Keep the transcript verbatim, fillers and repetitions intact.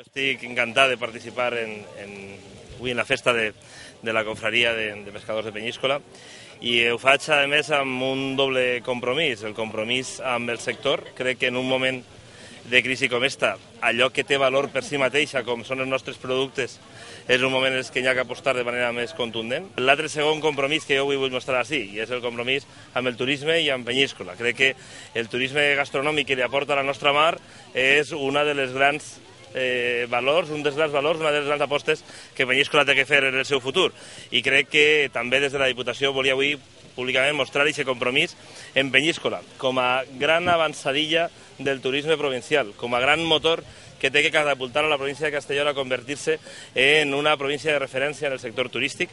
Jo estic encantat de participar en, en, avui en la festa de, de la confraria de, de pescadors de Penyíscola i ho faig, a més, amb un doble compromís, el compromís amb el sector. Crec que en un moment de crisi com esta, allò que té valor per si mateixa, com són els nostres productes, és un moment en què hi ha que apostar de manera més contundent. L'altre segon compromís que jo avui vull mostrar així, i és el compromís amb el turisme i amb Penyíscola. Crec que el turisme gastronòmic que li aporta a la nostra mar és una de les grans eh, valors, un dels grans valors, una de les grans apostes que Penyíscola té que fer en el seu futur. I crec que també des de la Diputació volia avui públicament mostrar aquest compromís en Penyíscola, com a gran avançadilla del turisme provincial, com a gran motor que té que catapultar a la província de Castelló a convertir-se en una província de referència en el sector turístic.